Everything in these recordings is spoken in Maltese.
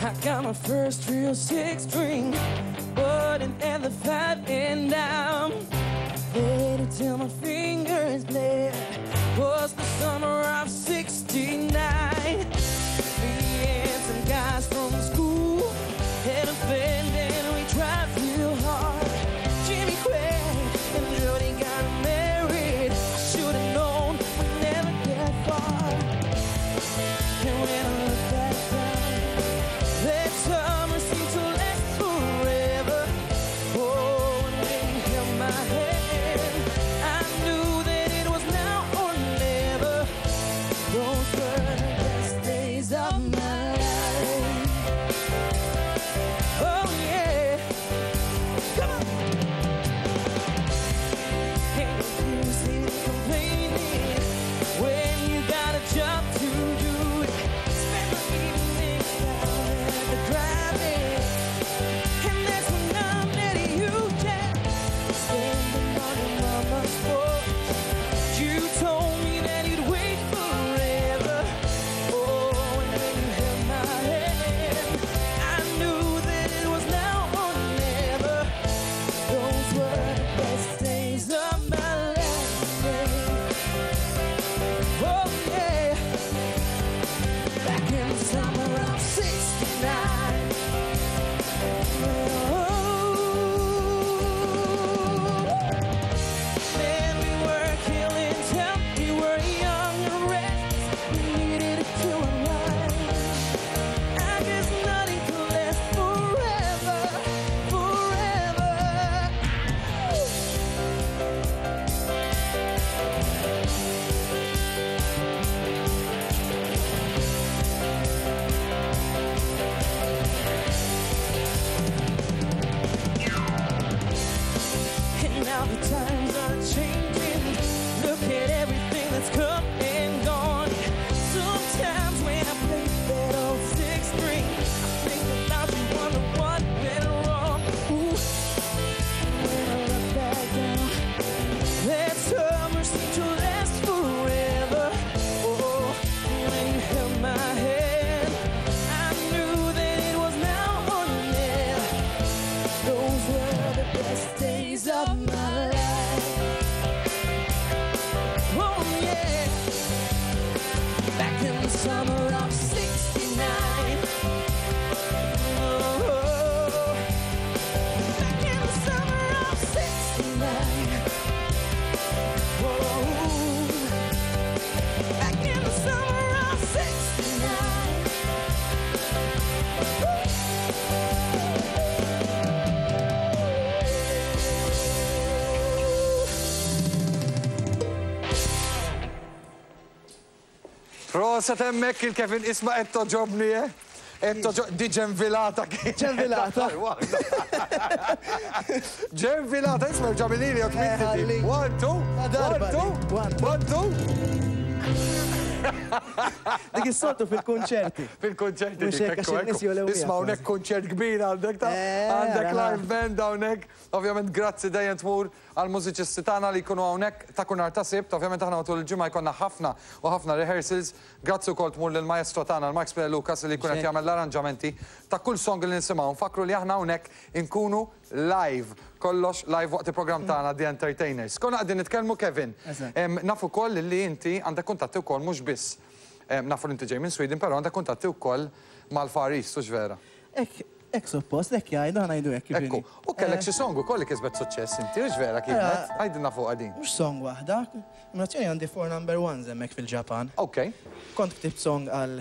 I got my first real six string, button and the five and down. Played it till my fingers bled. Was the summer of 69. Me and some guys from school had a friend and we tried real hard. Jimmy Craig and Jody got married. I should have known we'd never get far. And when I look back down, that summer seemed to last forever. Oh, and when you held my hand, I knew that it was now or never. Those were the best days of my life. Oh yeah, come on. Ain't no use in complaining when you got a job to do. Spend my evenings down at the drive-in, and that's when I met you, Jack. Standing on your mama's porch, you told me that you'd wait forever. Oh, and when you held my hand, I knew that it was now or never. Those were the best days of my life. Yeah. Oh yeah. Back in the summer of 69. Oh. Man, we were killing time. We were young and reckless. We needed to unwind. I guess nothing could last forever, forever. And now the times are changing. Look at everything that's come and gone. Sometimes when I play that old six string, I think about you, wonder what went wrong. Ooh, and when I look back down, that summer seemed to last forever. Oh, when you held my hand, I knew that it was now or never. Those were the best days of my life. Oh yeah. Back in the summer of 69. Oh, back in the summer of 69. Oh, back in the summer of 69. Proset hemmhekk il-Kevin isma' qed togħġobni, eh? Qed toġo- di ġenvilata kien. Ġenvilata. Ġenvilata, isma' ġamilili jok Eh, ħalli. One, two, Darba one, two, di. One, two. one, two. Dik is-soltu fil-kunċerti. Fil-konċerti. Mhux dik, hekk, għax ekku, in-nies ekku. jolew Isma' miegħek hawnhekk kunċert kbir għandek ta' Eh, għandek ara. live band hawnhekk. Ovvjament grazzi dejjem tmur għall-mużiċisti tagħna li jkunu hawnhekk ta' kull nhar ta' Sibt. Ovvjament aħna matul il-ġimgħa jkollna ħafna u ħafna rehearsals. Grazzi wkoll tmur lill-maestro tagħna l-Mark Spiller Lucas li jkun qed Mhux hekk. jagħmel l-arranġamenti ta' kull song li nisimgħu. Nfakru li aħna hawnhekk inkunu live, kollox live waqt il-programm tagħna The Entertainers. Konna qegħdin nitkellmu Kevin. Eżatt. Nafu wkoll li inti għandek kuntatti wkoll mhux biss. Nafu li inti ġej minn Sweden, però għandek kuntatti wkoll mal-Far East, hux vera? Hekk, hekk suppost, hekk jgħidu, ħa ngħidu hekk kif Ekku, inhi. u kellek xi song ukoll li kisbet suċċess inti, hux vera kienet? Għidilna fuqha din. Mhux song waħda, nominazzjoni għandi four number ones hemmhekk fil-Ġapan. Ok. Kont ktibt song għal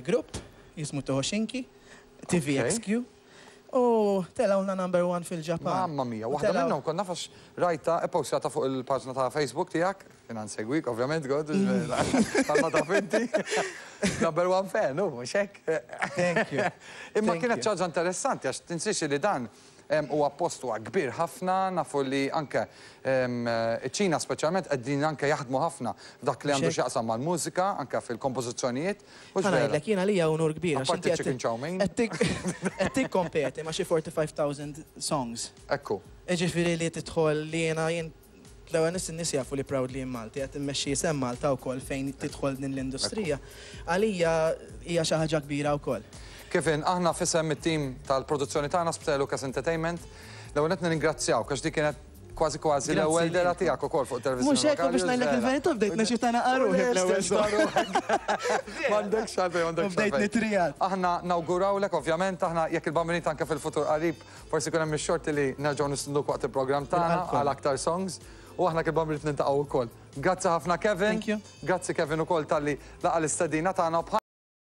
grupp jismu Tohoshinki, TVXQ, u telgħulna number one fil-Ġapan. Mamma mia, U waħda telgħu- minnhom kont naf għax rajta e-postjata fuq il-paġna ta' Facebook tiegħek, jiena nsegwik ovvjament, god, bħalma taf inti. Number one fan, hu, mhux hekk? Thank you. Imma Thank kienet you. xi ħaġa interessanti għax tinsiex li dan huwa post huwa kbir ħafna, nafu li anke iċ-Ċina speċjalment qegħdin anke jaħdmu ħafna f'dak li għandu Mhux hekk? x'jaqsam mal-mużika, anke fil-kompożizzjonijiet. Mhux Ħa vera? ngħidlek jiena li hija unur kbir għax Apparti inti qed chicken chow mein. qed tikkompeti ma' xi 45,000 songs. Ekku. Jiġifieri li tidħol li jiena jien L-ewwel nies in-nies jafu li proudly Malti qed immexxi isem Malta wkoll fejn tidħol din l-industrija. Għalija hija xi ħaġa kbira wkoll. Kevin, aħna f'isem it-tim tal-produzzjoni tagħna Spiteri Lucas Entertainment, l-ewwel nett nirringrazzjawk għax dik kienet kważi kważi l-ewwel dehra tiegħek ukoll fuq it-televiżjoni Mhux hekk u biex ngħidlek il-verità bdejt neċita naqa' ruħi fl-ewwel song. M'għandekx għalfejn, m'għandekx U bdejt għalfejn. nitrijat. Aħna nawgurawlek ovvjament, aħna jekk il-Bambinit anke fil-futur qarib forsi jkun hemm ix-xorti li nerġgħu nistinduk waqt il-programm tagħna Bil-qalb kollha. għal aktar songs u aħna kif il-Bambinit niltaqgħu wkoll. Grazzi ħafna Kevin. Thank you. Grazzi Kevin ukoll talli laqa' l-istedina tagħna u bħal